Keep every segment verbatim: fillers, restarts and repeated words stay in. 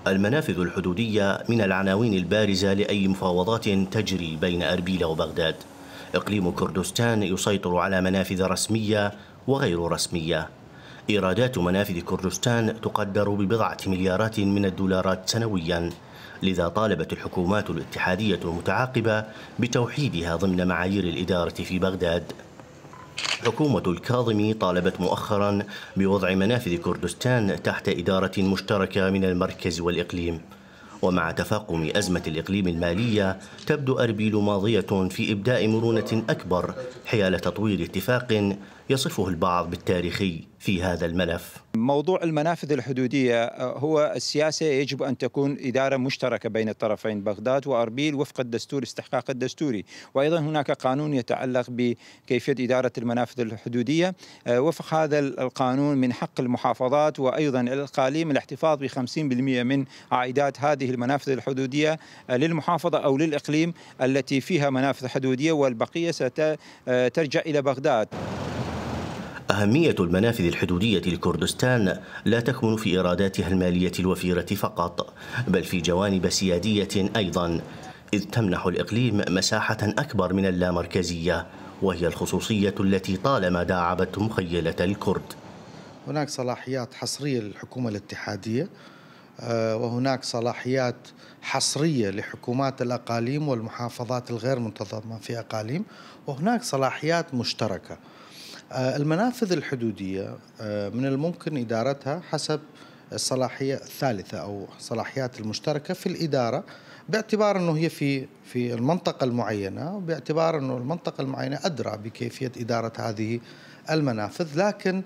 المنافذ الحدودية من العناوين البارزة لأي مفاوضات تجري بين أربيل وبغداد. إقليم كردستان يسيطر على منافذ رسمية وغير رسمية. إيرادات منافذ كردستان تقدر ببضعة مليارات من الدولارات سنوياً، لذا طالبت الحكومات الاتحادية المتعاقبة بتوحيدها ضمن معايير الإدارة في بغداد. حكومة الكاظمي طالبت مؤخراً بوضع منافذ كردستان تحت إدارة مشتركة من المركز والإقليم. ومع تفاقم أزمة الإقليم المالية تبدو أربيل ماضية في إبداء مرونة أكبر حيال تطوير اتفاق يصفه البعض بالتاريخي في هذا الملف. موضوع المنافذ الحدودية هو السياسة يجب أن تكون إدارة مشتركة بين الطرفين بغداد وأربيل وفق الدستور استحقاق الدستوري، وأيضا هناك قانون يتعلق بكيفية إدارة المنافذ الحدودية. وفق هذا القانون من حق المحافظات وأيضا الإقاليم الاحتفاظ بخمسين بالمئة من عائدات هذه المنافذ الحدودية للمحافظة أو للإقليم التي فيها منافذ حدودية، والبقية سترجع إلى بغداد. أهمية المنافذ الحدودية لكردستان لا تكمن في إيراداتها المالية الوفيرة فقط، بل في جوانب سيادية أيضا، إذ تمنح الإقليم مساحة أكبر من اللامركزية، وهي الخصوصية التي طالما داعبت مخيلة الكرد. هناك صلاحيات حصرية للحكومة الاتحادية، وهناك صلاحيات حصرية لحكومات الأقاليم والمحافظات الغير منتظمة في أقاليم، وهناك صلاحيات مشتركة. المنافذ الحدودية من الممكن إدارتها حسب الصلاحية الثالثة أو صلاحيات المشتركة في الإدارة، باعتبار أنه هي في في المنطقة المعينة، وباعتبار أنه المنطقة المعينة أدرى بكيفية إدارة هذه المنافذ. لكن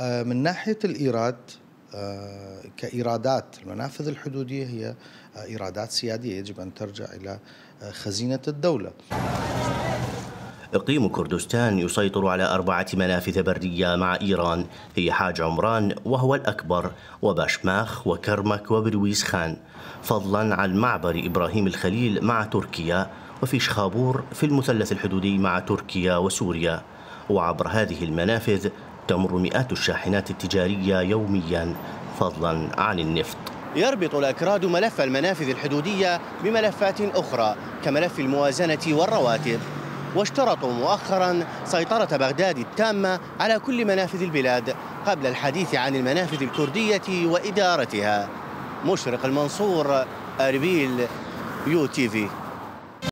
من ناحية الإيراد كإيرادات المنافذ الحدودية هي إيرادات سيادية يجب أن ترجع إلى خزينة الدولة. إقليم كردستان يسيطر على أربعة منافذ برية مع إيران، هي حاج عمران وهو الأكبر، وباشماخ وكرمك وبرويز خان، فضلا عن معبر إبراهيم الخليل مع تركيا، وفي شخابور في المثلث الحدودي مع تركيا وسوريا. وعبر هذه المنافذ تمر مئات الشاحنات التجارية يوميا، فضلا عن النفط. يربط الأكراد ملف المنافذ الحدودية بملفات أخرى كملف الموازنة والرواتب، واشترطوا مؤخرا سيطرة بغداد التامة على كل منافذ البلاد قبل الحديث عن المنافذ الكردية وإدارتها. مشرق المنصور، أربيل، يو تي في.